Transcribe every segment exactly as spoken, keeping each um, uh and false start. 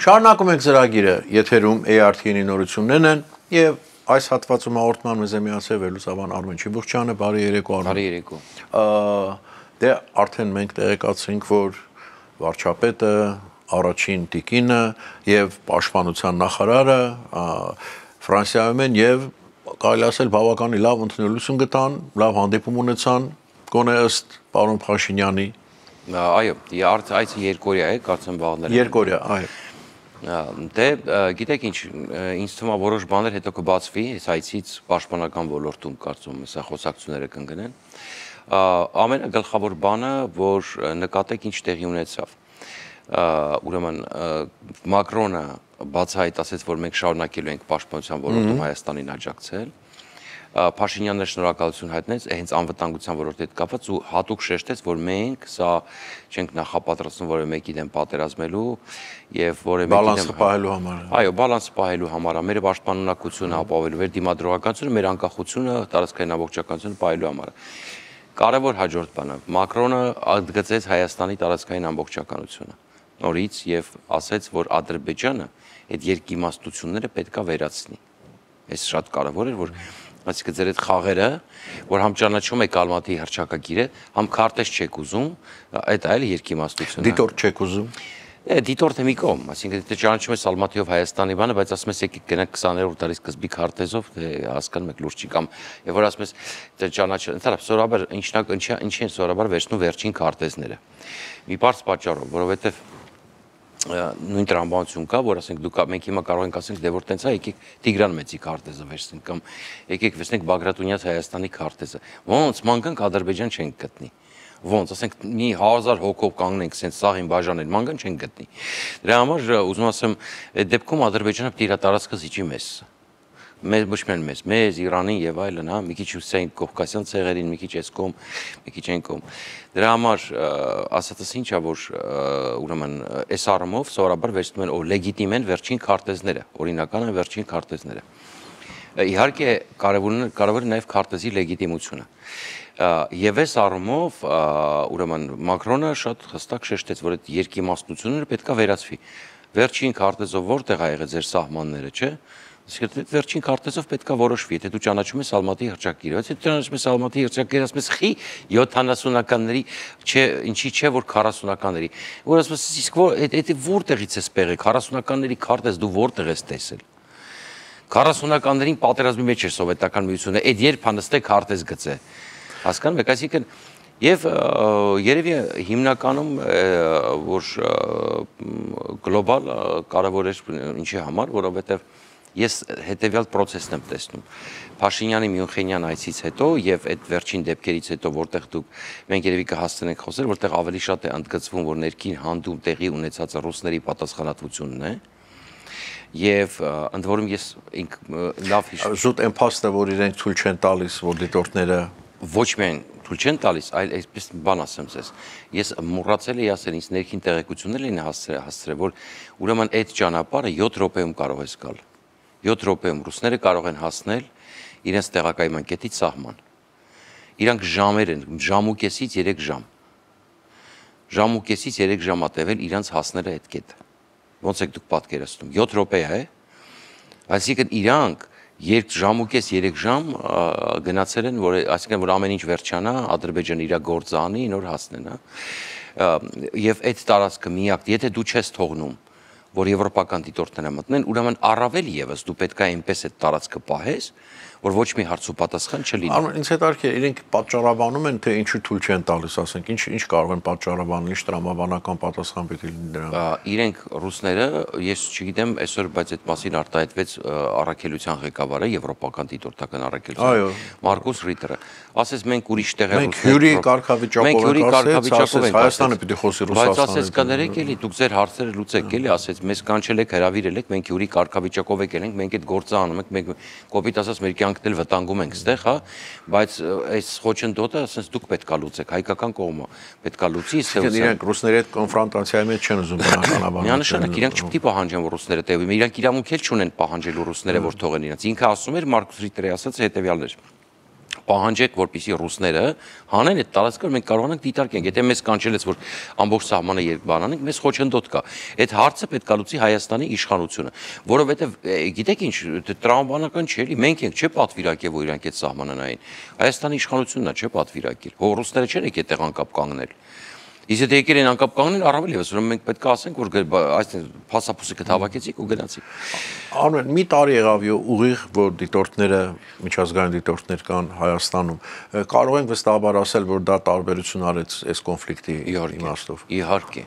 Շարունակում ենք ծրագիրը, եթերում A R T-ի նորություններն են եւ այս հատվածում հաղորդման մեզ է միացել վերլուծաբան Արմեն Չիբուխչյանը, բարի երեկո Արմեն։ Բարի երեկո։ Դե արդեն մենք տեղեկացրինք, որ վարչապետը, առաջին տիկինը եւ պաշտպանության նախարարը Ֆրանսիայում են եւ կարելի ասել բավականին լավ ընդունելություն գտան, լավ հանդիպում ունեցան, գոնե ըստ պարոն Փաշինյանի։ Այո, այս երկօրյա է, կարծեմ վաղները։ Երկօրյա, այո։ Դե, գիտեք ինչ, ինձ թվում է որոշ բաներ հետո կբացվի, այս այցից պաշտպանական ոլորտում կարծում եմ, սա խոսակցությունները կընկնեն։ Ամենագլխավոր բանը, որ նկատեք ինչ տեղի ունեցավ։ Ուրեմն Մակրոնը բացահայտ ասեց, որ մենք շարունակելու ենք պաշտպանության ոլորտում Հայաստանին աջակցել։ Փաշինյանն շնորհակալություն հայտնեց հենց անվտանգության ոլորտի հետ կապված ու հատուկ շեշտեց, որ մենք սա չենք նախապատրաստվում որևէ մեկի դեմ պատերազմելու եւ որևէ մեկի դեմ բալանսը պահելու համար։ Այո, բալանսը պահելու համար, մեր պաշտպանունակությունը ապահովելու, մեր դիմադրողականությունը, մեր անկախությունը, տարածքային ամբողջականությունը պահելու համար։ Կարևոր հաջորդ բանը, Մակրոնը ընդգծեց Հայաստանի տարածքային ամբողջականությունը նորից եւ ասեց, որ Ադրբեջանը այդ երկիմաստությունները պետքա վերացնի։ Այս շատ կարևոր էր, որ այսինքն ձեր այդ խաղերը, որ համ ճանաչում եք Ալմատիի հռչակագիրը, համ քարտեզ չեք ուզում, այդ այլ երկիմաստություն է։ Դիտորդ չեք ուզում։ Է, դիտորդը մի կողմ, այսինքն դե ճանաչում ես Ալմատիով Հայաստանի բանը, բայց ասում ես եկեք գնանք քսաներորդ դարի սկզբի քարտեզով, դե հասկանում եք լուրջ չի կամ եւ որ ասում ես դե ճանաչ, ընդհանրապես սովորաբար ինչնակ ինչի են սովորաբար վերցնում վերջին քարտեզները։ Մի բարձ պատճառով, որովհետեւ նույն տրամաբանություն կա, որ ասենք դուք մենք հիմա կարող ենք ասենք դե որ տենց է, եկեք Տիգրան Մեծի քարտեզը վերցնենք կամ եկեք վերցնենք Բագրատունյաց Հայաստանի քարտեզը։ Ոնց մանգանք Ադրբեջան չենք գտնի։ Ոնց ասենք մի հազար հոգով կանգնենք սենց սաղին բաժանել, մանգան չենք գտնի։ Դրա համար ուզում ասեմ, այդ դեպքում Ադրբեջանը պետք է իր տարածքը զիջի մեզ։ Մեզ ոչ միայն մեզ, մեզ, Իրանին եւ այլն, հա, մի քիչ հյուսիսային կովկասյան ցեղերին, մի քիչ այս կողմ, մի քիչ այն կողմ։ Դրա համար ասածս ինչա, որ ուրեմն այս առումով սովորաբար վերցնում են օ լեգիտիմ են վերջին քարտեզները, օրինական են վերջին քարտեզները։ Իհարկե կարևորն կարևոր է նաեւ քարտեզի լեգիտիմությունը։ Եվ այս առումով ուրեմն Մակրոնը շատ հստակ շեշտեց, որ այդ երկիմաստությունները պետքա վերացվի։ Վերջին քարտեզով որտեղ ա եղել ձեր սահմանները, չէ՞։ Իսկ վերջին քարտեզով պետքա որոշվի, եթե դու ճանաչում ես Ալմատիի հռչակագիրը, եթե դու ճանաչում ես Ալմատիի հռչակագիրը, ասում ես խի յոթանասունականների, չէ, ինչի չէ որ քառասունականների։ Որ ասում ես իսկ այդ որտեղից ես եղել, քառասունականների քարտեզ դու որտեղ ես տեսել։ Քառասունականներին պատերազմի մեջ էր սովետական միությունը, այդ երբ հանդստե քարտեզ գծե։ Հասկանում եք, այսինքն եւ երևի հիմնականում որ գլոբալ կարևոր էր ինչի համար, որովհետեւ ես հետեւյալ process-ն եմ տեսնում։ Փաշինյանի Մյունխենյան այցից հետո եւ այդ վերջին դեպքերից հետո, որտեղ դուք մենք երևի կհասցնենք խոսել, որտեղ ավելի շատ է ընդգծվում, որ ներքին հանդում տեղի ունեցածը ռուսների պատասխանատվությունն է։ Եվ ընդ որում ես լավ հիշում զուտ այն փաստը, որ իրենք ցույց չեն տալիս, որ դիտորդները ոչ միայն ցույց չեն տալիս, այլ այսպես բան ասեմ ձեզ։ Ես մոռացել էի ասել, ինձ ներքին տեղեկություններ էին հասցրել, որ ուրեմն այդ ճանապարհը յոթ րոպեում կարող է գալ։ յոթ րոպեում ռուսները կարող են հասնել իրենց տեղակայման կետից սահման։ Իրանք ժամեր են, ժամ ու կեսից երեք ժամ։ Ժամ ու կեսից երեք ժամ ա տևել իրանք հասնելը այդ կետը։ Ոնց եք դուք պատկերացնում։ յոթ րոպե է։ Այսինքն իրանք երեք ժամ ու կես երեք ժամ գնացել են, որ այսինքն որ ամեն ինչ վերջանա, Ադրբեջանը իր գործը անի, նոր հասնեն, հա։ Եվ այդ տարածքը միակ, եթե դու չես թողնում որ եվրոպական դիտորդները մտնեն, ուրեմն առավել եւս դու պետք է այնպես այդ տարածքը պահես, որ ոչ մի հարց ու պատասխան չլինի։ Արմեն, ինձ հետաքրքիր է, իրենք պատճառաբանում են, թե ինչու թույլ չեն տալիս, ասենք, ինչ ինչ կարող են պատճառաբանել, ինչ տրամաբանական պատասխան պետք է լինի դրան։ Իրենք ռուսները, ես չգիտեմ, այսօր բայց այդ մասին արտահայտվեց առաքելության ղեկավարը, եվրոպական դիտորդական առաքելության, Մարկուս Ռիտերը, ասես մենք ուրիշ տեղ ենք հյուրի կարգավիճակով ենք, Հայաստանը պիտի խոսի Ռուսաստանը։ Բայց ասես կներեք էլի, դուք ձեր հարցերը լուծեք էլի, ասեց մեզ կանչել եք, հրավիրել եք, մենք հյուրի կարգավիճակով եք ելենք, մենք այդ գործը անում ենք, մենք կոպիտ ասած մեր կյանքն էլ վտանգում ենք ստեղ, հա, բայց այս խոչընդոտը ասես դուք պետքա լուծեք, հայկական կողմը պետքա լուծի, իրենք ռուսների հետ կոնֆրոնտացիայի մեջ չեն ուզում բնականաբար։ Միանշանակ իրանք չպետք է պահանջեն, որ ռուսները տևի, իրանք իրավունք էլ չունեն պահանջելու ռուսները, որ թողեն իրենց։ Ինքը ասում էր Մարկուս Ռիտերը ասած հետեւյալն էր։ պահանջեք, որպեսզի ռուսները հանեն այդ տարածքը, մենք կարողանանք դիտարկենք։ Եթե մեզ կանչելից, որ ամբողջ սահմանը երկբանանենք, մեզ խոչընդոտ կա։ Այդ հարցը պետք է լուծի Հայաստանի իշխանությունը, որովհետև գիտեք ինչ, տրամաբանական չէ, էլի մենք ենք չէ պատվիրակել, որ իրանք այդ սահմանը նային։ Հայաստանի իշխանությունն է չէ պատվիրակել։ Հո ռուսները չեն եկել տեղ անկապ կանգնել։ Իսկ եթե եկել են անկապ կանգնել, առավել եւս, ուրեմն մենք պետք է ասենք, որ այսինքն փասափուսիկը հավաքեցիք ու գնացիք։ Արմեն, մի տարի եղավ ուղիղ, որ դիտորդները, միջազգային դիտորդներ կան Հայաստանում, կարող ենք վստահաբար ասել, որ դա տարբերություն արեց այս կոնֆլիկտի իմաստով։ Իհարկե։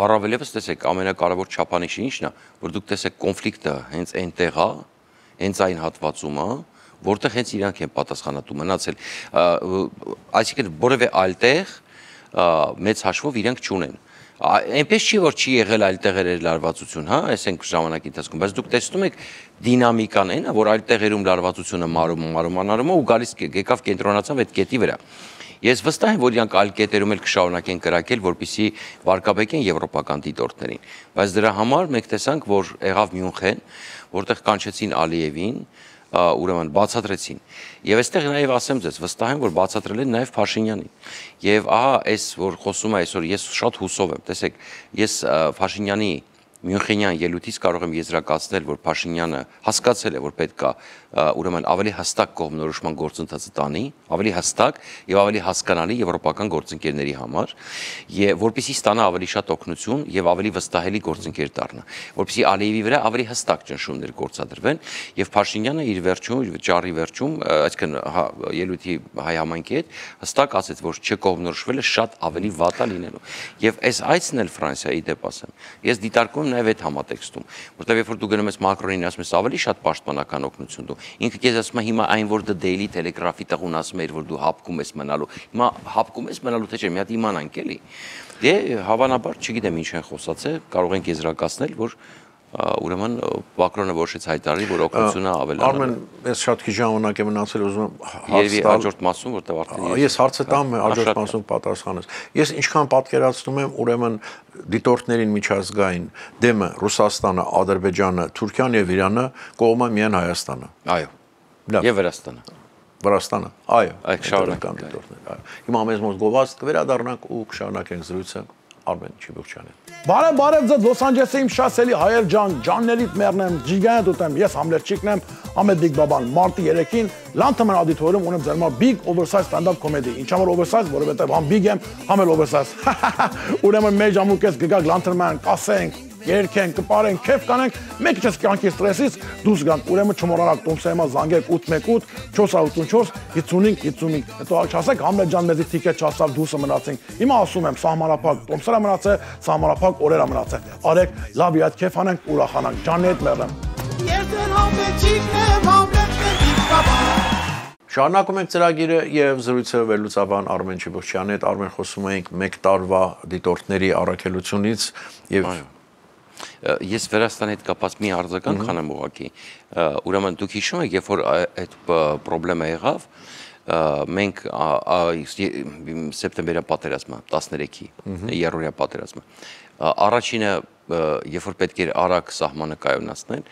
Առավել եւս տեսեք, ամենակարևոր չափանիշը ինչն է, որ դուք տեսեք կոնֆլիկտը հենց այնտեղ է, հենց այն հատվածում է, որտեղ հենց իրանք են պատասխանատու մնացել։ Այսինքն որևէ այլ տեղ մեծ հաշվով իրենք չունեն։ Այնպես չի, որ չի եղել այլ տեղեր լարվածություն, հա, այս ենք ժամանակի ընթացքում, բայց դուք տեսնում եք դինամիկան այն է, որ այլ տեղերում լարվածությունը մարում, մարում, անարում ու գալիս եկավ կենտրոնացավ այդ կետի վրա։ Ես վստահ եմ, որ իրանք այլ կետերում էլ կշարունակեն կրակել, որպեսզի վարկաբեկեն եվրոպական դիտորդներին։ Բայց դրա համար մենք տեսանք, որ եղավ Մյունխեն, որտեղ կանչեցին Ալիևին, ուրեմն բացատրեցին։ Եվ այստեղ նաև ասեմ ձեզ, վստահ եմ, որ բացատրել են նաև Փաշինյանին։ Եվ ահա այս, որ խոսում է այսօր, ես շատ հուսով եմ, տեսեք, ես Փաշինյանի Մյունխենյան ելույթից կարող եմ եզրակացնել, որ Փաշինյանը հասկացել է, որ պետք է ուրեմն ավելի հստակ կողմնորոշման գործընթացը տանի, ավելի հստակ եւ ավելի հասկանալի եվրոպական գործընկերների համար, եւ որպեսզի ստանա ավելի շատ օգնություն եւ ավելի վստահելի գործընկեր դառնա, որպեսզի Ալիևի վրա ավելի հստակ ճնշումներ գործադրվեն եւ Փաշինյանը իր վերջում, իր ճառի վերջում, այսինքն ելույթի հայ համայնքի հետ հստակ ասեց, որ չկողմնորոշվելը շատ ավելի վատ է լինելու։ Եվ այս այցն էլ Ֆրանսիայի դեպ ասեմ, ես դիտարկում նաև այդ համատեքստում, որտեղ երբ որ դու գնում ես Մակրոնին, ասում ես ավելի շատ պաշտպանական օգնություն դու։ Ինքը քեզ ասում է հիմա այն որ The Daily Telegraph-ի տղուն ասում էր որ դու հապկում ես մնալու։ Հիմա հապկում ես մնալու թե չէ, մի հատ իմանանք էլի։ Դե հավանաբար, չգիտեմ ինչ են խոսացել, կարող ենք եզրակացնել, որ ուրեմն Մակրոնը որոշեց հայտարարի, որ օգնությունը ավելանա։ Արմեն, ես շատ քիչ ժամանակ եմ մնացել, ուզում եմ Երևի հաջորդ մասում, որտեղ արդեն ես հարցը տամ, հաջորդ մասում պատասխանես։ Ես ինչքան պատկերացնում եմ, ուրեմն դիտորդներին միջազգային դեմը Ռուսաստանը, Ադրբեջանը, Թուրքիան եւ Իրանը կողմը միայն Հայաստանը։ Այո։ Եվ Վրաստանը։ Վրաստանը, այո, այդ շարունակական դիտորդներ, այո։ Հիմա մեզ մոտ գովաց կվերադառնանք ու կշարունակենք զրույցը Արմեն Չիբուխչյանին։ Բարև, բարև ձեզ Լոս Անջելեսի իմ շասելի հայեր ջան, ջաններիդ մեռնեմ, ջիգանդ ուտեմ, ես Համլետ եմ, Ամեդ Բիգ Բաբան, մարտի երեքին Լանթման auditorium ունեմ ձեր համար big oversize stand-up comedy։ Ինչա որ oversize, որովհետև համ big եմ, համ էլ oversize։ Ուրեմն մեծ ժամուկես գգակ Լանթման, կասենք, երկենք, կպարենք, քեֆ կանենք, մեկ չես կյանքի ստրեսից դուրս գանք։ Ուրեմն չմոռանաք տոմսեմա զանգեք ութ մեկ ութ չորս ութ չորս հինգ հինգ հինգ։ Հետո չասեք Համլետ ջան մեզի տիկետ չասավ դուրսը մնացինք։ Հիմա ասում եմ սահմանափակ տոմսերը մնացել, սահմանափակ օրերը մնացել։ Արեք, լավ իհատ քեֆ անենք, ուրախանանք։ Ջաննետ մեռնեմ։ Շարունակում ենք ծրագիրը եւ զրույցը վերլուծաբան Արմեն Չիբուխչյանի հետ Արմեն խոսում ենք մեկ տարվա դիտորդների առաքելությունից եւ ես Վրաստանի հետ կապած մի արձագանք անեմ ուղղակի։ Ուրեմն դուք հիշում եք, երբ որ այդ խնդրը եղավ, մենք սեպտեմբերյան պատերազմը տասներեքի երրորդյա պատերազմը առաջինը երբ որ պետք էր արագ սահմանը կայունացնել,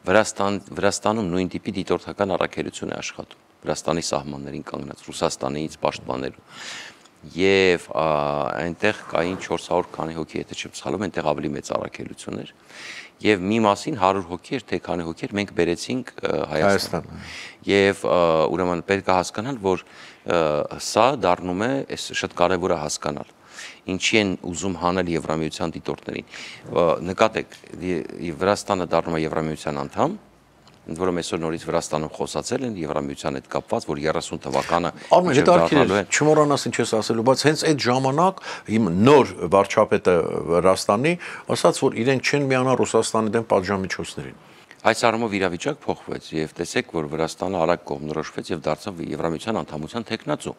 Վրաստան Վրաստանում նույն տիպի դիտորդական առաքելություն է աշխատում Վրաստանի սահմաններին կանգնած Ռուսաստանից պաշտպանելու եւ այնտեղ կային չորս հարյուր քանի հոգի, եթե չեմ սխալվում, այնտեղ ավելի մեծ առաքելություն էր եւ մի մասին հարյուր հոգի էր, թե քանի հոգի էր, մենք բերեցինք Հայաստան։ Եվ ուրեմն պետք է հասկանալ, որ սա դառնում է, շատ կարեւոր է հասկանալ, ինչի են ուզում հանել Եվրամիության դիտորդներին։ Նկատեք, Վրաստանը դառնում է Եվրամիության անդամ, ընդ որում այսօր նորից Վրաստանում խոսացել են Եվրամիության հետ կապված, որ երեսուն թվականը Արմեն, հետաքրքիր է, չմոռանաս ինչ ես ասելու, բայց հենց այդ ժամանակ իմ նոր վարչապետը Վրաստանի ասաց, որ իրենք չեն միանա Ռուսաստանի դեմ պատժամիջոցներին։ Այս առումով իրավիճակ փոխվեց եւ տեսեք, որ Վրաստանը արագ կողմնորոշվեց եւ դարձավ Եվրամիության անդամության տեխնացու։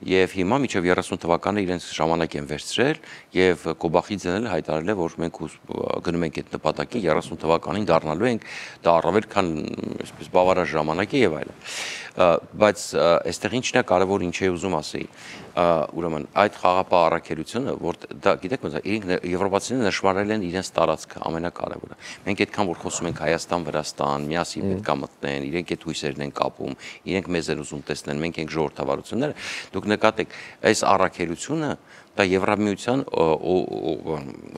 Եվ հիմա միջև երեսուն թվականը իրենց ժամանակ են վերցրել եւ Կոբախիձեն էլ հայտարարել է, որ մենք գնում ենք այդ նպատակին երեսուն թվականին դառնալու ենք, դա առավել քան այսպես բավարար ժամանակ է եւ այլն։ Բայց այստեղ ինչն է կարևոր, ինչ է ուզում ասեի։ ուրեմն այդ խաղապահ առաքելությունը, որ դա գիտեք ոնց է, իրենք եվրոպացիները նշмарել են իրենց տարածքը ամենակարևորը։ Մենք այդքան որ խոսում ենք Հայաստան, Վրաստան, միասին պետք է մտնեն, իրենք այդ հույսերն են կապում, իրենք մեզ են ուզում տեսնեն, մենք ենք ժողովրդավարությունները, դուք նկատեք, այս առաքելությունը դա Եվրամիության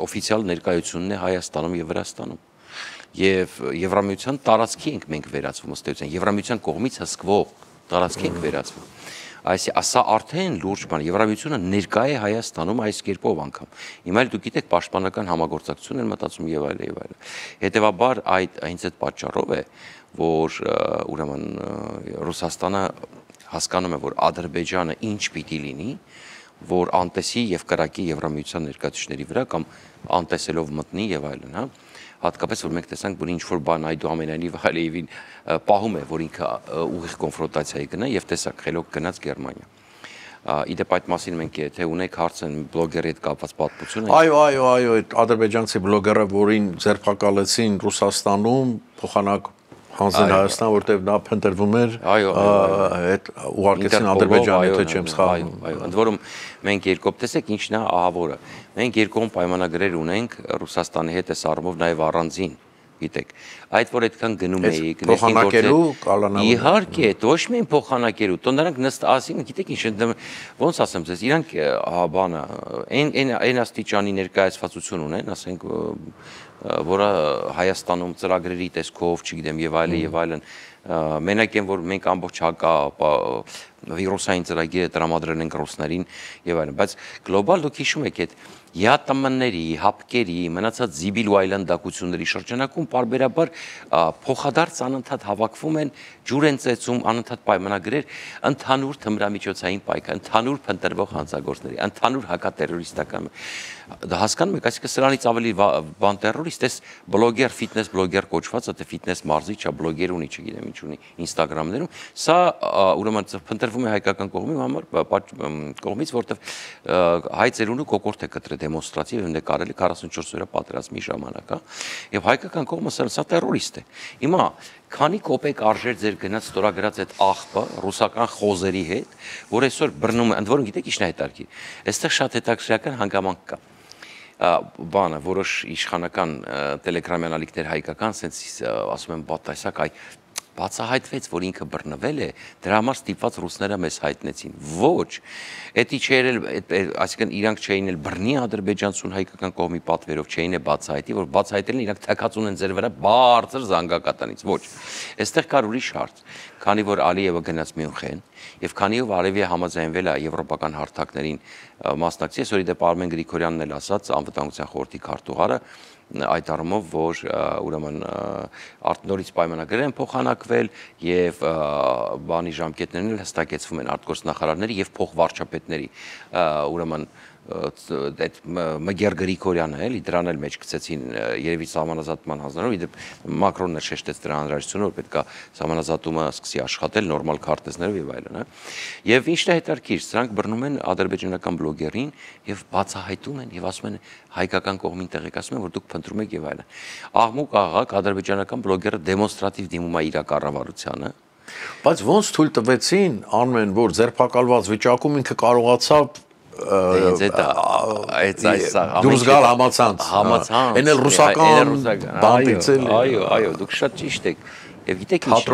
օֆիցիալ ներկայությունն է Հայաստանում եւ Վրաստանում։ Եվ Եվրամիության տարածքի ենք մենք վերածվում ըստ էության, Եվրամիության կողմից հսկվող տարածքի ենք վերածվում։ Այս սա արդեն լուրջ բան, Եվրամիությունը ներկա է Հայաստանում այս կերպով անգամ։ Հիմա էլ դուք գիտեք պաշտպանական համագործակցություն են մտածում եւ այլ եւ այլ։ Հետևաբար այդ հենց այդ պատճառով է, որ ուրեմն Ռուսաստանը հասկանում է, որ Ադրբեջանը ինչ պիտի լինի, որ անտեսի եւ կրակի Եվրամիության ներկայացուցիչների վրա կամ անտեսելով մտնի եւ այլն, հա։ Հատկապես որ մենք տեսանք, որ ինչ որ բան այդուամենայնիվ Ալիևին պահում է, որ ինքը ուղիղ կոնֆրոնտացիայի գնա եւ տեսակ խելոք գնաց Գերմանիա։ Իդեպ այդ մասին մենք եթե ունենք հարց են բլոգերի հետ կապված պատմություն։ Այո, այո, այո, այդ ադրբեջանցի բլոգերը, որին ձերբակալեցին Ռուսաստանում, փոխանակ հանձնել Հայաստան, որտեղ նա փնտրվում էր, այդ ուղարկեցին Ադրբեջան, եթե չեմ սխալվում։ Այո, ընդ որում մենք երկով տեսեք ինչն է ահավորը։ Մենք երկում պայմանագրեր ունենք Ռուսաստանի հետ այս առումով նաև առանձին, գիտեք։ Այդ որ այդքան գնում էի, փոխանակելու կալանավորը։ Իհարկե, ոչ միայն փոխանակելու, տո նրանք նստ ասին, գիտեք ինչ, ոնց ասեմ ձեզ, իրանք բանը, այն այն այն աստիճանի ներկայացվածություն ունեն, ասենք որը Հայաստանում ծրագրերի տեսքով, չգիտեմ, եւ այլն եւ այլն, մենակ են որ մենք ամբողջ հակա վիրուսային ծրագիրը տրամադրել ենք ռուսներին եւ այլն, բայց գլոբալ դուք հիշում եք այդ յատմների, հապկերի, մնացած զիբիլ ու այլանդակությունների շրջանակում պարբերաբար փոխադարձ անընդհատ հավաքվում են, ջուր են ծեծում, անընդհատ պայմանագրեր, ընդհանուր թմրամիջոցային պայքար, ընդհանուր փնտրվող հանցագործների, ընդհանուր հակատերորիստական։ Դա հասկանում եք, այսինքն սրանից ավելի բան տերորիստ, այս բլոգեր, ֆիթնես բլոգեր կոչվածը, թե ֆիթնես մարզիչ, ա բլոգեր ունի, չգիտեմ ինչ ունի, Instagram-ներում, սա ուրեմն փնտրվում է հայկական կողմի համար, կողմից, որտեղ հայ ծերունու կոկորտ է կտրել դեմոնստրատիվ եւ նկարելի քառասունչորս օրյա պատերազմի ժամանակ, հա, եւ հայկական կողմը սա տերորիստ է։ Հիմա քանի կոպեկ արժեր ձեր գնաց ստորագրած այդ աղբը ռուսական խոզերի հետ, որ այսօր բռնում է, ընդ որում գիտեք ինչն է հետաքրքիր։ Այստեղ շատ հետաքրքրական հանգամանք կա։ Բանը որոշ իշխանական տելեգրամյան ալիքներ հայկական, ասենց ասում են բատասակ, այ բացահայտվեց, որ ինքը բռնվել է, դրա համար ստիպված ռուսները մեզ հայտնեցին։ Ոչ, էդի չէր էլ, այսինքն իրանք չէին էլ բռնի ադրբեջանցուն հայկական կողմի պատվերով, չէին է բացահայտի, որ բացահայտելն իրանք թակածուն են ձեր վրա բարձր զանգակատանից։ Ոչ, այստեղ կար ուրիշ հարց, քանի որ Ալիևը գնաց Մյունխեն, եւ քանի որ Արևիա համաձայնվել է եվրոպական հարթակներին մասնակցի, այսօր իդեպ Արմեն Գրիգորյանն էլ ասաց, անվտանգության խորհրդի քարտուղարը, այդ առումով, որ ուրեմն նորից պայմանագրեր են փոխանակվել եւ բանի ժամկետներն էլ հստակեցվում են արտգործնախարարների եւ փոխվարչապետների, ուրեմն այդ Մգեր Գրիգորյանը էլի դրան էլ մեջ գցեցին երևի սահմանազատման հանձնարարով, իդեպ Մակրոնն էլ շեշտեց դրա անհրաժեշտությունը, որ պետք է սահմանազատումը սկսի աշխատել նորմալ քարտեզներով եւ այլն, հա։ Եվ ինչն է հետաքրքիր, սրանք բռնում են ադրբեջանական բլոգերին եւ բացահայտում են եւ ասում են հայկական կողմին տեղեկացնում են, որ դուք փնտրում եք եւ այլն։ Աղմուկ աղակ ադրբեջանական բլոգերը դեմոնստրատիվ դիմում է իր կառավարությանը։ Բայց ոնց թույլ տվեցին անմեն, որ ձերբակալված վիճակում ինքը կարողացավ դուրս գալ համացանց, համացանց, այն էլ ռուսական բանտից էլ։ Այո, այո, դուք շատ ճիշտ եք։ Եվ գիտեք ինչ,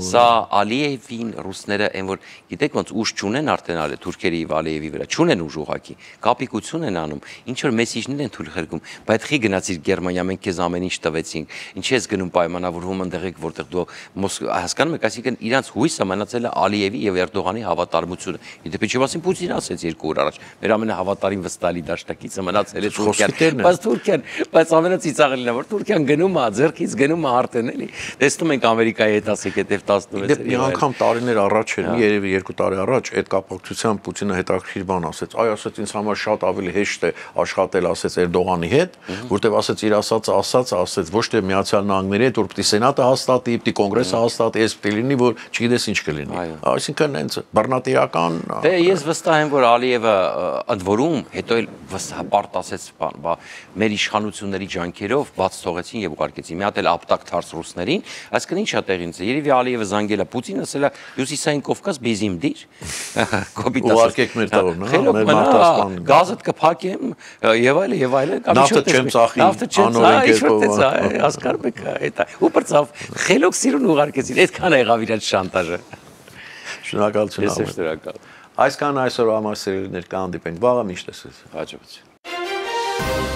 սա Ալիևին ռուսները այն որ գիտեք ոնց ուժ չունեն արդեն ալե թուրքերի եւ Ալիևի վրա, չունեն ուժ ուղակի, կապիկություն են անում, ինչ որ մեսիջներ են թույլ խրգում, բայց խի գնացիր Գերմանիա, մենք քեզ ամեն ինչ տվեցինք, ինչ ես գնում պայմանավորվում ընդեղ եք, որտեղ դու հասկանում եք, այսինքն իրանց հույսը մնացել է Ալիևի եւ Էրդողանի հավատարմությունը։ Իդեպ ինչի մասին Պուտինը ասեց երկու օր առաջ, մեր ամենահավատարիմ վստահելի դաշնակիցը մնացել է Թուրքիան, բայց Թուրքիան, բայց ամենացիծաղելին է որ Թուրքիան գնում է, ձեռքից գնում է արդեն էլի, տեսնում ենք Ամերիկայի հետ ասեք հետև տասնվեց։ Մի անգամ տարիներ առաջ էր, մի երևի երկու տարի առաջ այդ կապակցությամբ Պուտինը հետաքրքիր բան ասեց։ Այ ասեց ինձ համար շատ ավելի հեշտ է աշխատել, ասեց Էրդողանի հետ, որտեվ ասեց իր ասածը ասած, ասեց ոչ թե Միացյալ Նահանգների հետ, որ պիտի սենատը հաստատի, պիտի կոնգրեսը հաստատի, էս պիտի լինի, որ չգիտես ինչ կլինի։ Այսինքն հենց բռնատիրական։ Դե ես վստահ եմ, որ Ալիևը ընդ որում հետո էլ վստահ ասեց, մեր իշխանությունների ջանքերով բաց թողեցին եւ ուղարկեցին։ Մի հատ էլ ապտակ թարս ռուսներին, այսինքն ի՞նչ է տեղին ծը։ Երևի Ալիևը զանգել է Պուտինը, ասել է Հյուսիսային Կովկաս բեզիմ դիր։ Կոպիտ ասած։ Ուղարկեք մեր տողն, հա, մեր մարտահրավերն։ Գազդ կփակեմ եւ այլն եւ այլն։ Նավթը չեմ ծախի, նավթը չեմ անօրեն ծախի, հասկանում եք, դա։ Ու բրծավ խելոք սիրուն ուղարկեցին։ Այդքան է եղավ իրաց շանտաժը։ Շնորհակալություն։ Ես շնորհակալ։ Այսքան այսօր ամասերներ կհանդիպենք վաղը միշտ էսես։ Հաջողություն։